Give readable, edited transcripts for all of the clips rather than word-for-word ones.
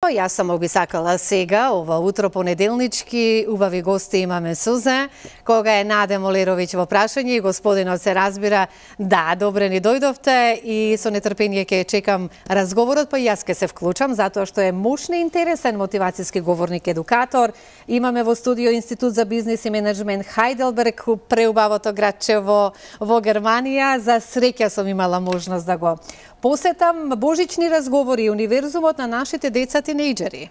Јас само би сакала сега, ова утро понеделнички, убави гости имаме Сузе, кога е Наде Молеровиќ во прашање и господинот се разбира, да, добре ни дојдовте и со нетрпение ќе чекам разговорот, па и јас ќе се вклучам, затоа што е мощно интересен мотивацијски говорник, едукатор. Имаме во студио Институт за бизнис и менеджмент Хајделберг, преубавото градче во Германија. За среќа сум имала можност да го посетам. Божични разговори, универзумот на нашите деца тинејџери.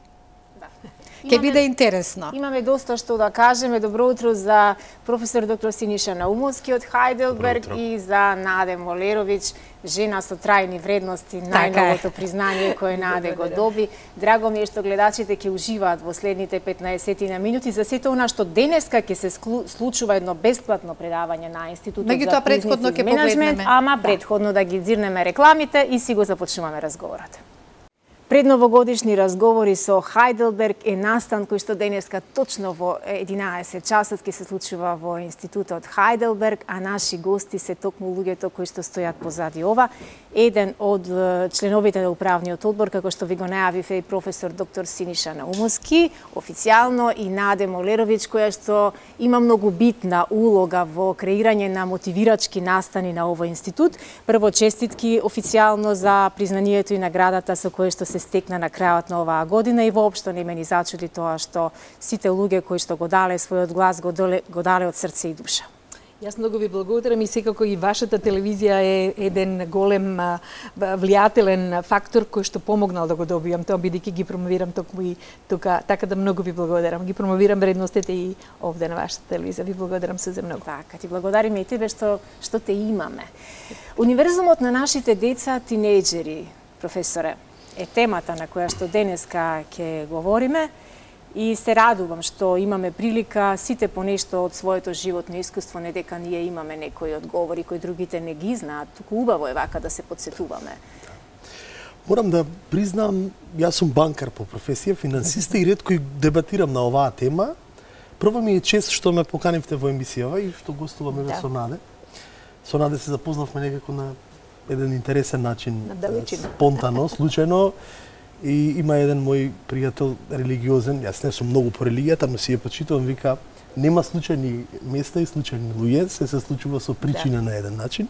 Ќе биде интересно. Имаме доста што да кажеме. Добро утро за професор доктор Синиша Наумовски од Хајделберг и за Наде Молеровиќ, жена со трајни вредности, најновото признание кое Наде го доби. Драго ми е што гледачите ќе уживаат во следните 15 минути за сето она што денеска ќе се случува едно бесплатно предавање на Институтот за бизнис и менеджмент, ама предходно да ги дзирнеме рекламите и си го започнуваме разговорот. Предновогодишни разговори со Хајделберг е настан кој што денеска точно во 11 часот ќе се случува во Институтот Хајделберг, а наши гости се токму луѓето кои што стојат позади ова. Еден од членовите на управниот одбор, како што ви го најавив, е професор доктор Синиша Наумовски, официјално, и Наде Молеровиќ, која што има многу битна улога во креирање на мотивирачки настани на овој институт. Прво, честитки официјално за признанието и наградата со кое што се стекна на крајот на оваа година и воопшто не ме ни зачуди тоа што сите луѓе кои што го дале својот глас го дале од срце и душа. Јас многу ви благодарам и секако и вашата телевизија е еден голем влијателен фактор кој што помогнал да го добијам тоа, бидејќи ги промовирам токму и тука, така да многу ви благодарам. Ги промовирам вредностите и овде на вашата телевизија. Ви благодарам се за многу. Така, ти благодариме и тебе што те имаме. Универзумот на нашите деца тинејџери, професоре, е темата на која што денеска ќе говориме и се радувам што имаме прилика сите по нешто од своето животно искуство, не дека ние имаме некои одговори кои другите не ги знаат, туку убаво е вака да се подсетуваме. Морам да признам, јас сум банкар по професија, финансиста и ретко и дебатирам на оваа тема. Прво ми е чест што ме поканивте во емисијава и што гостуваме со Наде. Со Наде се запознавме некако на еден интересен начин, спонтано, случајно, и има еден мој пријател религиозен, јас не сум многу по религијата, но си ја почитувам, вика, нема случајни места и случајни луѓе, се случува со причина на еден начин.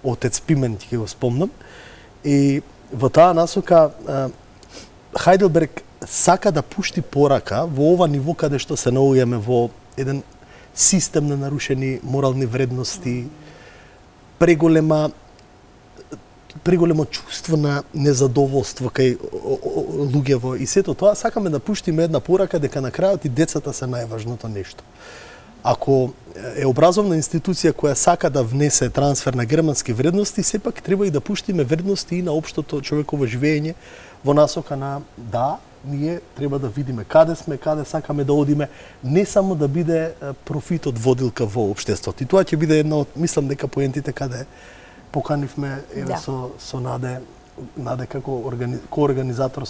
Отец Пимен, ти ќе го спомнам. И во таа насока, Хајделберг сака да пушти порака во ова ниво каде што се наоѓаме во еден систем на нарушени морални вредности, преголемо чувство на незадоволство кај луѓево и сето тоа, сакаме да пуштиме една порака дека на крајот и децата се најважното нешто. Ако е образовна институција која сака да внесе трансфер на германски вредности, сепак треба и да пуштиме вредности и на општото човеково живење во насока на ние треба да видиме каде сме, каде сакаме да одиме, не само да биде профитот водилка во општеството. И тоа ќе биде една од, мислам дека поентите каде поканивме со Наде како коорганизатор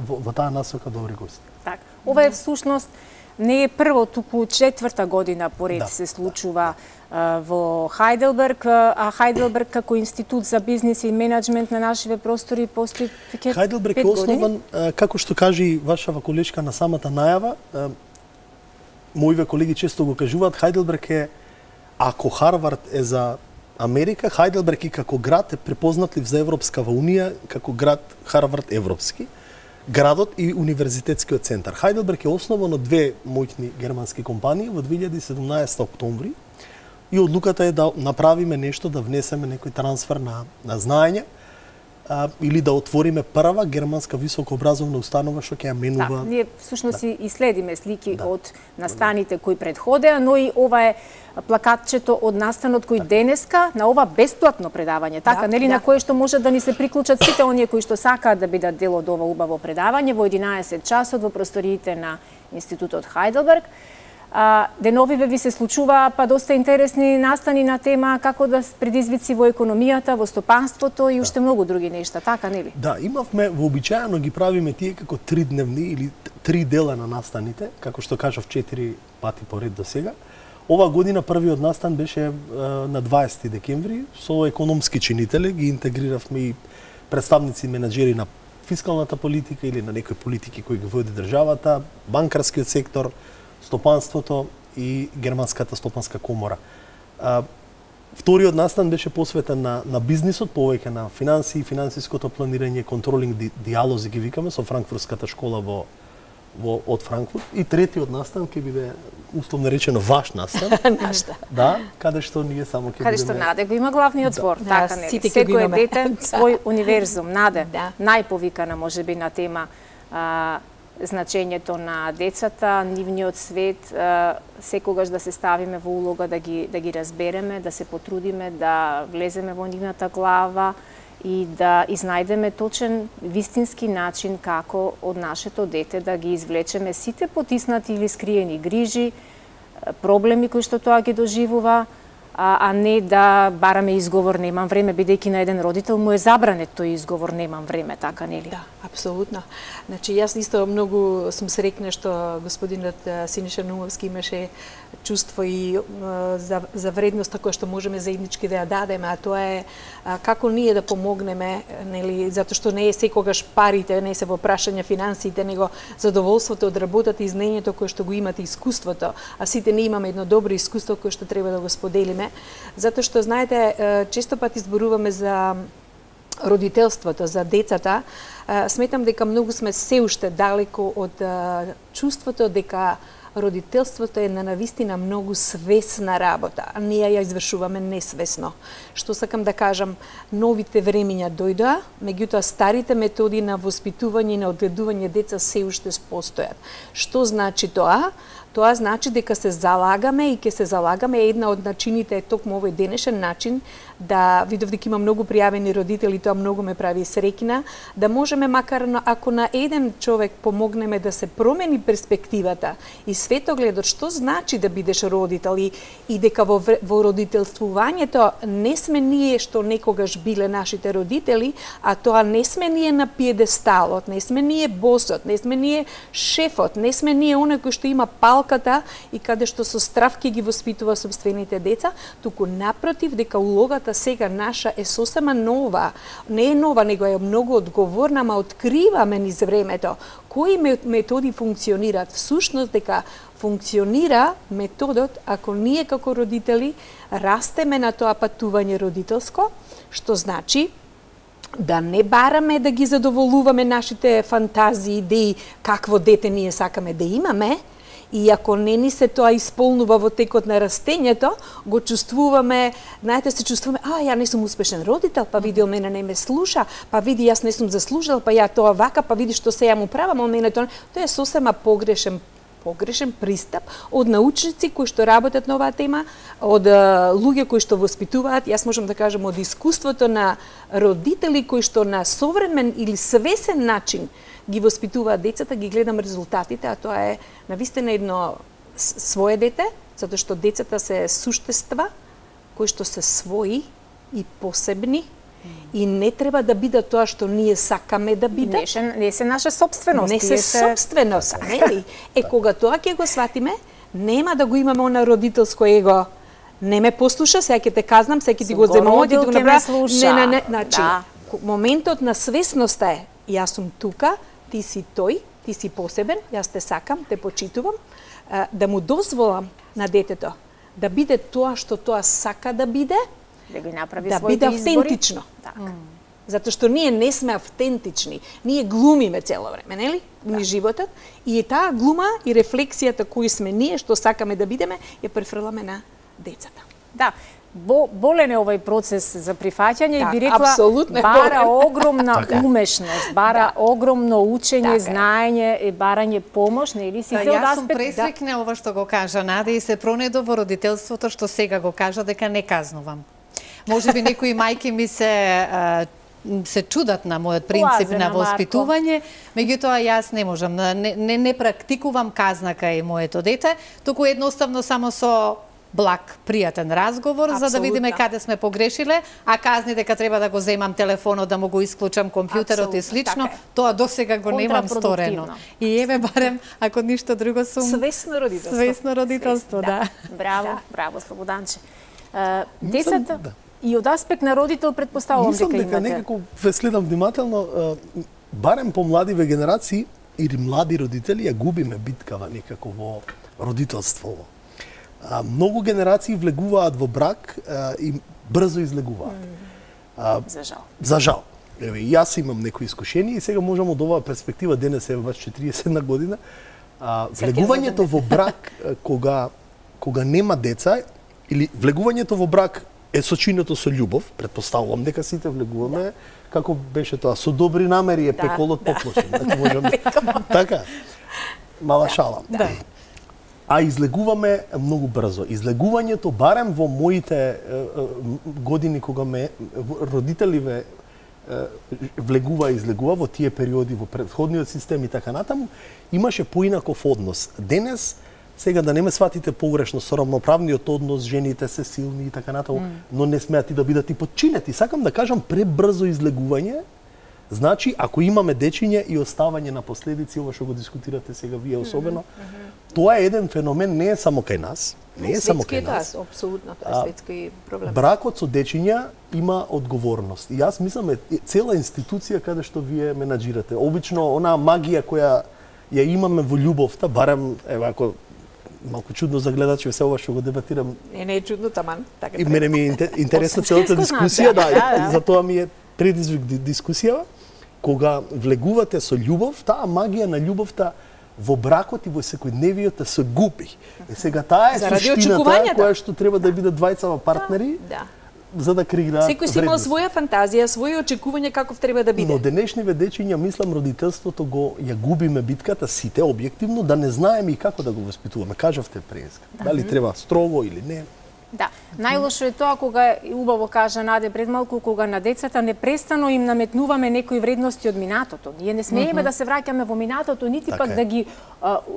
во таа насока добри гости. Так, ова е всушност не е прво, туку четврта година поред се случува во Хајделберг, а Хајделберг како Институт за бизнис и менеджмент на нашите простори постои веќе 5 години. Хајделберг е основан, како што кажи вашава колешка на самата најава, моите колеги често го кажуваат, Хајделберг е, ако Харвард е за Америка, Хајделберг и како град е препознатлив за Европскава унија, како град Харвард европски, градот и универзитетскиот центар. Хајделберг е основан од две моќни германски компании во 2017 октомври и одлуката е да направиме нешто, да внесеме некој трансфер на знаење или да отвориме прва германска високообразовна установа што ќе ја менува. Ние всушност и следиме слики од настаните кои предходеа, но и ова е плакатчето од настанот кој денеска на ова бесплатно предавање, така, нели, на кое што може да ни се приклучат сите оние кои што сакаат да бидат дел од ова убаво предавање во 11 часот во просториите на Институтот Хајделберг. Деновиве ви се случува па доста интересни настани на тема како да предизвици во економијата, во стопанството и уште многу други нешта, така нели? Да, имавме вообичаено ги правиме тие како 3-дневни или 3 дела на настаните, како што кажав 4 пати поред до сега. Ова година првиот настан беше на 20 декември со економски чинители, ги интегриравме и представници менаџери на фискалната политика или на некои политики кои ги води државата, банкарскиот сектор, стопанството и Германската стопанска комора. Вториот настан беше посветен на бизнисот, повеќе на финансии, финансиското планирање, контролинг диалози ги викаме со Франкфуртската школа од Франкфурт. И третиот настан ќе биде условно речено ваш настан. Нашта. Да, каде што ние само ќе бидеме. Каде што Наде го има главниот збор, така нели? Секој дете свој универзум. Наде, најповикана можеби на тема значењето на децата, нивниот свет, секогаш да се ставиме во улога да ги разбереме, да се потрудиме, да влеземе во нивната глава и да изнајдеме точен, вистински начин како од нашето дете да ги извлечеме сите потиснати или скриени грижи, проблеми кои што тоа ги доживува, а не да бараме изговор немам време, бидејќи на еден родител му е забранет тој изговор немам време, така нели? Да, апсолутно. Значи јас исто многу сум среќна што господинот Синиша Наумовски имаше чувство и за вредноста која што можеме заеднички да ја дадеме, а тоа е како ние да помогнеме, нели, затоа што не е секогаш парите, не се во прашање финансиите, него задоволството од работата и знаењето кое што го имате, искуството, а сите не имаме едно добро искуство кое што треба да го споделиме, затоа што знаете, често пати зборуваме за родителството, за децата. Сметам дека многу сме се уште далеко од чувството дека родителството е на навистина многу свесна работа, а ние ја извршуваме несвесно. Што сакам да кажам, новите времиња дојдоа, меѓутоа старите методи на воспитување и на одгледување деца се уште постојат. Што значи тоа? Тоа значи дека се залагаме и ќе се залагаме, една од начините е токму овој денешен начин, да видов дека има многу пријавени родители, тоа многу ме прави среќна, да можеме макар ако на еден човек помогнеме да се промени перспективата и светогледот што значи да бидеш родител и дека во родителствувањето не сме ние што некогаш биле нашите родители, а тоа не сме ние на пиедесталот, не сме ние босот, не сме ние шефот, не сме ние оној кој што има палката и каде што со страв ќе ги воспитува собствените деца, туку напротив дека улогата сега наша е сосема нова. Не е нова, него е многу одговорна, ма откриваме низ времето кои методи функционираат. Всушност дека функционира методот ако ние како родители растеме на тоа патување родителско, што значи да не бараме да ги задоволуваме нашите фантазии, идеи, какво дете ние сакаме да имаме, и ако не ни се тоа исполнува во текот на растењето, го чувствуваме, знаете, се чувствуваме, ја не сум успешен родител, па види, мене не ме слуша, па види, јас не сум заслужил, па ја тоа вака, па види што се ја му правам, а мене тоа е сосема погрешен пристап од научници кои што работат на оваа тема, од луѓе кои што воспитуваат, јас можам да кажам од искуството на родители кои што на современ или свесен начин ги воспитуваат децата, ги гледам резултатите, а тоа е навистина едно свое дете, затоа што децата се суштества кои што се свои и посебни, и не треба да бидат тоа што ние сакаме да бидат. Не се наша собственост. Не се собственост, нели? Кога тоа ќе го сватиме, нема да го имаме она родителско его. Не ме послуша, сега ќе те казнам, сега ќе ти го земам, ти го направам. Не, значи, моментот на свесноста е, јас сум тука, ти си тој, ти си посебен, јас те сакам, те почитувам, да му дозволам на детето да биде тоа што тоа сака да биде, да ги направи да своите биде автентично. Затоа што ние не сме автентични, ние глумиме цело време, нели? Ни животот, и таа глума и рефлексијата кои сме ние, што сакаме да бидеме, ја префрламе на децата. Да, болен е овој процес за прифаќање и би рекла бара огромна умешност, бара огромно учење, знаење и барање помош, нели сите од аспект. Јас сум пресрекна ова што го кажа Наде и се пронедов во родителството што сега го кажа дека не казнувам. Можеби некои мајки ми се чудат на мојот принцип на воспитување, меѓутоа јас не можам, не практикувам казна кај моето дете, туку едноставно само со благ, пријатен разговор, за да видиме каде сме погрешиле, а казни дека треба да го земам телефонот, да му го исклучам компјутерот и слично, тоа досега го немам сторено. И еве барем, ако ништо друго сум... Свесно родителство. Свесно родителство, да. Браво, Слободанче. Децата... И од аспект на родител предпоставувам дека имате. Мислам дека некако ве следам внимателно. барем по младиве генерации или млади родители ја губиме биткава некако во родителството. Многу генерации влегуваат во брак и брзо излегуваат. За жал. За жал. Еве, јас имам некои искушенија и сега можам од оваа перспектива, денес е баш 41 година, влегувањето во брак кога нема деца или влегувањето во брак е сочинето со љубов, претпоставувам дека сите влегуваме, како беше тоа, со добри намери е пеколот поклучен. Така, мала шала. А излегуваме многу брзо. Излегувањето, барем во моите години кога родителиве влегува и излегува во тие периоди во претходниот систем и така натаму, имаше поинаков однос. Денес, сега да не ме сватите погрешно, со рамноправниот однос, жените се силни и така натаму, но не смеат и да бидат и подчинети. Сакам да кажам, пребрзо излегување, значи, ако имаме дечиња и оставање на последици, ова што го дискутирате сега вие особено, тоа е еден феномен, не е само кај нас, не е само кај нас. Апсолутно, тоа е светски проблем. Бракот со дечиња има одговорност. И јас мислам цела институција каде што вие менаџирате. Обично онаа магија која ја имаме во љубовта, барем ако малку чудно за гледачи се ова што го дебатирам. Не е чудно, таман, така. И мене ми е интересна целата дискусија, за тоа ми е предизвик дискусија. Кога влегувате со љубов, таа магија на љубовта во бракот и во секојдневието се губи. И сега таа е суштината која што треба да бидат двајцава партнери, за да креираат секој си имал своја фантазија, своји очекувања каков треба да биде. Но денешниве дечиња, мислам, родителството ја губиме битката сите објективно, да не знаеме и како да го воспитуваме. Кажавте преска. Дали треба строго или не. Да, најлошо е тоа кога, убаво кажа Наде пред малку, кога на децата непрестано им наметнуваме некои вредности од минатото. Ние не смееме да се враќаме во минатото, нити пак да ги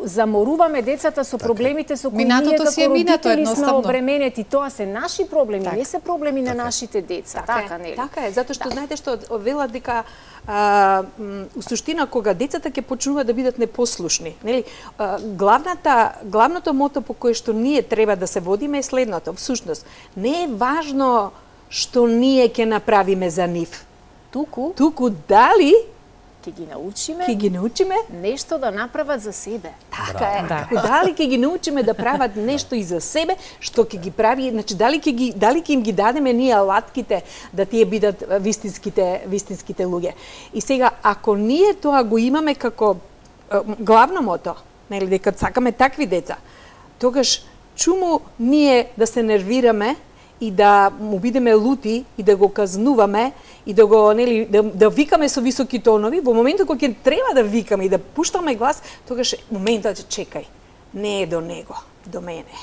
заморуваме децата со проблемите со кои ние како родители сме обременети. Тоа се наши проблеми, не се проблеми на нашите деца. Така, нели? Така е, затоа што знаете што велат дека у суштина кога децата ќе почнуваат да бидат непослушни, нели? Главното мото по кое што ние треба да се водиме е следното. Всушност, не е важно што ние ќе направиме за нив. Туку дали ќе ги научиме нешто да направат за себе. Така е. Дали ќе ги научиме да прават нешто и за себе, што ќе ги прави, значи дали ќе им ги дадеме ние алатките да тие бидат вистинските луѓе. И сега ако ние тоа го имаме како главно мото, нели дека сакаме такви деца, тогаш чуму ние да се нервираме и да му бидеме лути и да го казнуваме и да го да викаме со високи тонови, во моментот кога ќе треба да викаме и да пуштаме глас, тогаш моментот чекај, не е до него, до мене.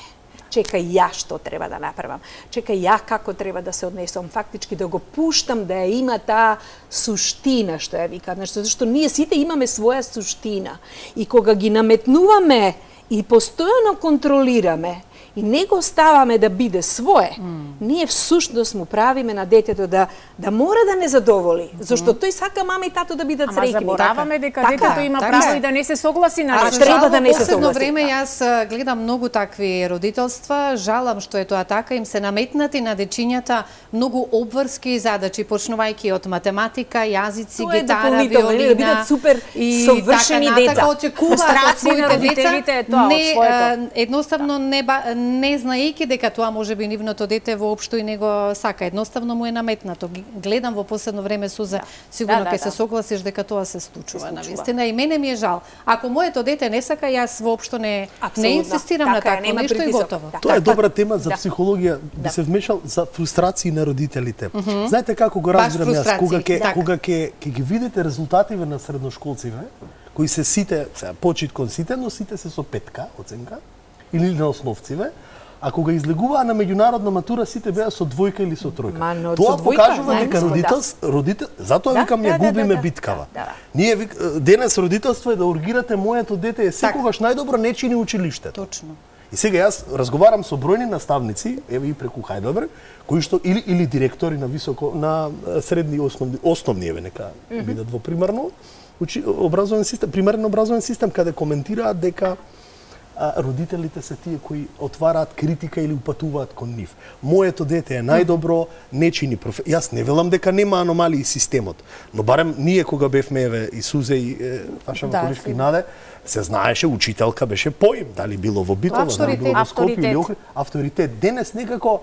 Чекај ја што треба да направам. Чекај ја како треба да се однесам, фактички да го пуштам да ја има таа суштина што ја викам, зашто ние сите имаме своја суштина и кога ги наметнуваме и постојано контролираме и не го ставаме да биде свое, ние всушност му правиме на детето да мора да не задоволи, зашто тој сака мама и тато да бидат среќни. Ама забораваме дека детето има право и да не се согласи на нешто. Треба да не се согласи. Во последно време јас гледам многу такви родителства, жалам што е тоа така, им се наметнати на дечињата многу обврски задачи, почнувајќи од математика, јазици, гитара, виолина, да бидат супер совршени деца. Очекуваат од своите деца, едноставно не знаејќи дека тоа може би нивното дете воопшто и него сака, едноставно му е наметнато. Гледам во последно време Суза, сигурно ќе се согласиш дека тоа се случува навистина и мене ми е жал. Ако моето дете не сака, јас воопшто не инсистирам на такво нешто и готово. Тоа е добра тема за психологија, би се вмешал за фрустрации на родителите. Знаете како го разбирам јас, кога ќе ги видите резултативе на средношколциве, кои се сите, почит кон сите, но сите се со 5 оценка, или на основциве, а кога излегуваа на меѓународна матура, сите беа со 2 или со 3. Тоа покажува дека родител, затоа викам ја губиме биткава. Ние денес родителство е да ургирате моето дете е секогаш најдобро, не чини училиштето. Точно. И сега јас разговарам со бројни наставници, еве и преку Хајделберг, кои што или директори на средни основни еве нека бидат во примерен образовен систем, каде коментираат дека родителите се тие кои отвараат критика или упатуваат кон нив. Моето дете е најдобро, не чини Јас не велам дека нема аномалии системот, но барем ние кога бевме и Сузе и Ваша Ваколишка и Наде, се знаеше, учителка беше поим, дали било во Битола, дали било во Скопје или Охрид, авторитет. Денес некако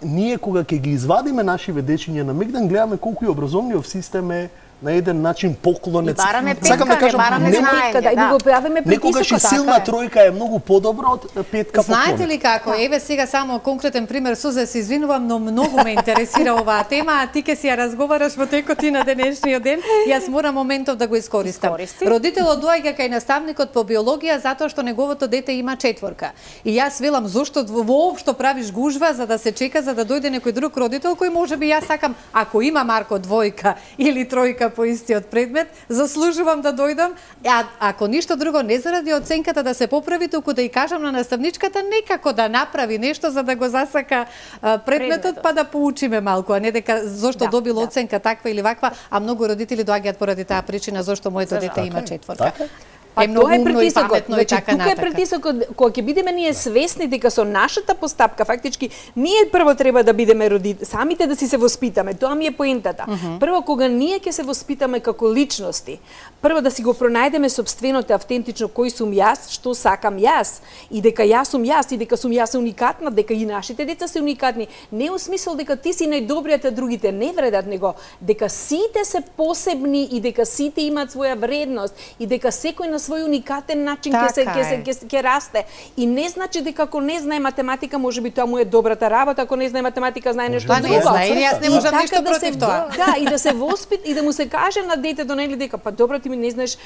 ние кога ќе ги извадиме нашиве дечиња на Мегдан, гледаме колку и образовниот систем е на еден начин поклонец. Бараме петка, не бараме знаење. Да, и го правиме притисок. Некогаш и силна тројка е многу подобро од петка поклон. Знаете ли како? Еве сега само конкретен пример, Сузе, се извинувам, но многу ме интересира оваа тема, а ти ќе си ја разговараш во текот и на денешниот ден. Јас морам моментов да го искористам. Родителот доаѓа кај наставникот по биологија затоа што неговото дете има 4. И јас велам зошто воопшто правиш гужва за да се чека за да дојде некој друг родител кој можеби јас сакам, ако има Марко 2 или 3 по истиот предмет, заслужувам да дојдам, а ако ништо друго не заради оценката да се поправи, туку да и кажам на наставничката некако да направи нешто за да го засака предметот, па да поучиме малку, а не дека зошто добил оценка таква или ваква, а многу родители доаѓаат поради таа причина зошто моето дете има 4. Па тоа е притисокот, значи тука е притисокот, кога ќе бидеме ние свесни дека со нашата постапка фактички ние прво треба да бидеме самите да си се воспитаме, тоа ми е поентата. Прво кога ние ќе се воспитаме како личности, прво да си го пронајдеме собственото автентично кој сум јас, што сакам јас и дека јас сум јас и дека сум јас уникатна, дека и нашите деца се уникатни, не у смисол дека ти си најдобриот а другите не вредат, него дека сите се посебни и дека сите имаат своја вредност и дека секој на свој уникатен начин ќе расте. И не значи дека ако не знае математика, можеби тоа му е добрата работа, ако не знае математика, знае нешто друго. Јас не можам ништо против тоа. Да, и да се воспит и да му се каже на детето нели дека па добро ти ми не знаеш,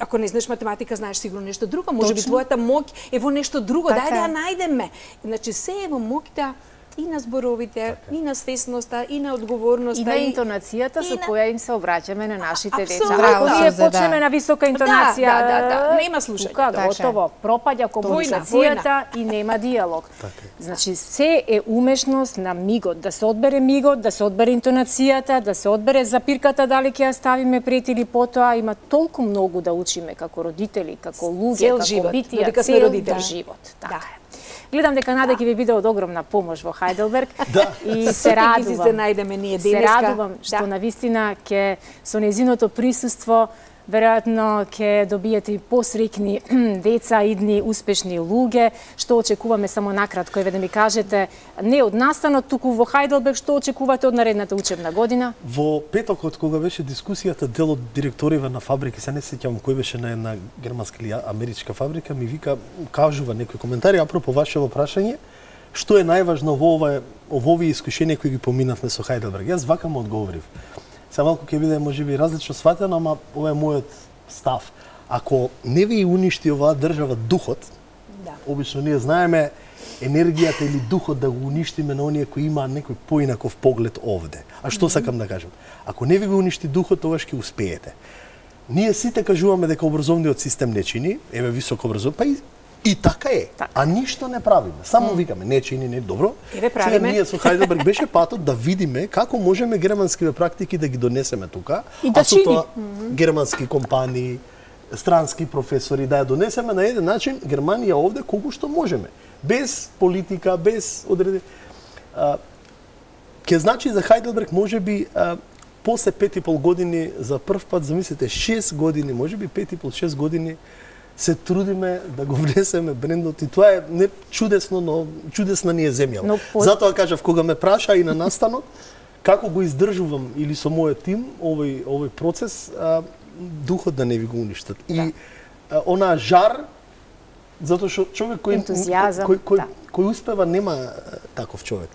ако не знаеш математика, знаеш сигурно нешто друго, можеби твојата моќ е во нешто друго, дај да ја најдеме. Значи се е во моќта и на зборовите, и на свесноста, и на одговорноста, и на интонацијата со која им се обраќаме на нашите деца. Ако ние почнеме на висока интонација, нема слушање. Готово, пропаѓа комуникацијата и нема диалог. Значи се е умешност на мигот, да се одбере мигот, да се одбере интонацијата, да се одбере запирката дали ќе ја ставиме пред или потоа, има толку многу да учиме како родители, како луѓе, како битија, цел живот. Така е. Гледам дека Наде ќе ви биде од огромна помош во Хајделберг и се радувам. Се најдеме ние денеска. Се радувам што навистина ќе со нејзиното присуство веројатно ќе добиете и посрекни деца, идни успешни луѓе. Што очекуваме само накратко, еве да ми кажете, не од настанот, туку во Хајделберг, што очекувате од наредната учебна година? Во петокот кога беше дискусијата, дел од директориве на фабрики, се не сеќавам кој беше на една германска или америчка фабрика, ми вика, кажува некои коментари апропо вашето прашање, што е најважно во овие искушенија кои ги поминавме со Хајделберг. Јас вака му одговорив. Се малку ќе биде можеби различно сватено, ама ова е мојот став. Ако не ви уништи оваа држава духот, обично ние знаеме енергијата или духот да го уништиме на оние кои имаат некој поинаков поглед овде. А што сакам да кажам? Ако не ви го уништи духот, тогаш ќе успеете. Ние сите кажуваме дека образовниот систем не чини, еве високо образование, па и така е, а ништо не правиме. Само викаме, не чини, не добро. Еве правиме. Ние со Хајделберг беше патот да видиме како можеме германските практики да ги донесеме тука, и да со тоа германски компании, странски професори, да ја донесеме на еден начин Германија овде колку што можеме. Без политика, без одредени... Ке значи за Хајделберг можеби после 5,5 години за прв пат, замислите, 6 години, можеби 5,5-6 години, се трудиме да го внесеме брендот и тоа е не чудесно, но чудесна ни е земја. Затоа кажав, кога ме праша и на настанот, како го издржувам или со мојот тим овој процес, духот да не ви го уништат. И онаа жар, затоа што човек кој успева нема таков човек.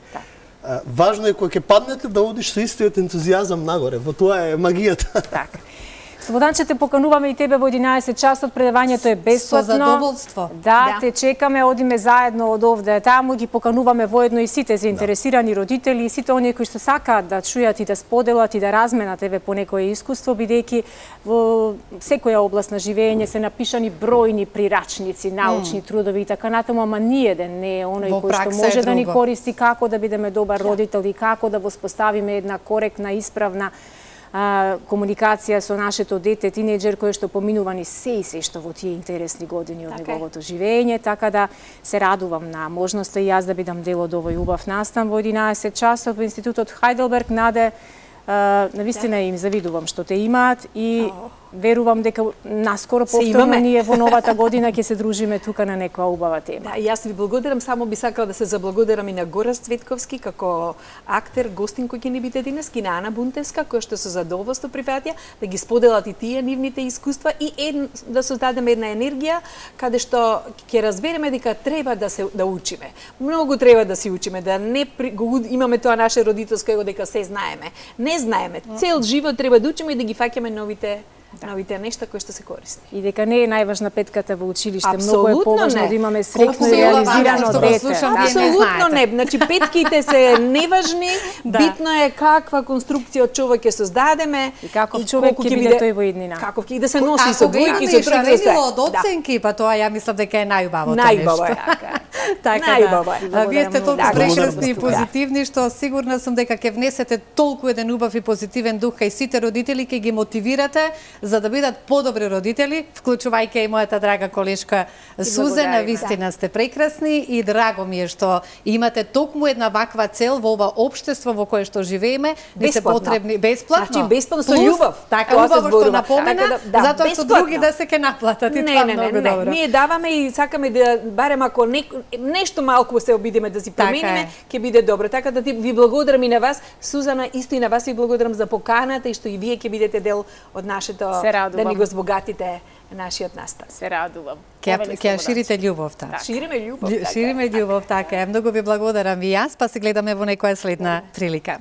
Важно е кога ќе паднете да одиш со истиот ентузијазам нагоре, во тоа е магијата. Така. Слободанче, те покануваме и тебе во 11 часот, предавањето е бесплатно. Со задоволство. Да, те чекаме, одиме заедно од овде таму, ги покануваме воедно и сите заинтересирани родители и сите оние кои што сакаат да чујат и да споделат и да разменат еве по некое искуство, бидејќи во секоја област на живење се напишани бројни прирачници, научни трудови и така натаму, ама ниеден не е оној кој што може да ни користи како да бидеме добар родител и како да воспоставиме една коректна, исправна комуникација со нашето дете, тинејџер кој што поминува ни се и се што во тие интересни години од неговото живење, така да се радувам на можноста и јас да бидам дел од овој убав настан во 11 часов во Институтот Хајделберг. Наде, навистина им завидувам што те имаат и верувам дека наскоро повторно ние во новата година ќе се дружиме тука на некоја убава тема. Да, јас ви благодарам, само би сакала да се заблагодарам и на Горас Цветковски како актер, гостин кој ќе ни биде денес, и на Ана Бунтевска која што со задоволство прифатија да ги споделат и тие нивните искуства и да создадеме една енергија каде што ќе разбереме дека треба да учиме. Многу треба да си учиме, да не имаме тоа наше родителско его дека се знаеме. Не знаеме. Цел живот треба да учиме и да ги фаќаме новите нешта кои што се корисни. И дека не е најважна петката во училиште, многу е поважно да имаме среќно и реализирано дете. Апсолутно не. Значи петките се неважни, битно е каква конструкција од човек ќе создадеме и каков човек ќе биде тој во иднина. Каков ќе да се носи со двојки, со тројки, со од оценки, па тоа ја мислам дека е најубавото нешто. Најубаво е. Така да. Вие сте толку прекрасни и позитивни што сигурна сум дека ќе внесете толку еден убав и позитивен дух кај сите родители, ќе ги мотивирате за да бидат подобри родители, вклучувајќи и мојата драга колешка Сузана. Вистина сте прекрасни и драго ми е што имате токму една ваква цел во ова општество во кое што живееме. Ви се потребни бесплатно. Значи бесплатно со љубов. Така, убаво што напомена, затоа што други да се ќе наплатат и тоа многу добро. Ние даваме и сакаме да барем ако нешто малку се обидеме да си промениме, ќе биде добро. Така да ви благодарам и на вас, Сузана, исто и на вас ви благодарам за поканата и што и вие ќе бидете дел од нашето да ни го збогатите нашиот настан. Се радувам. Ќе ширите љубовта. Шириме љубов. Шириме љубов, така е. Многу ви благодарам и јас, па се гледаме во некоја следна прилика.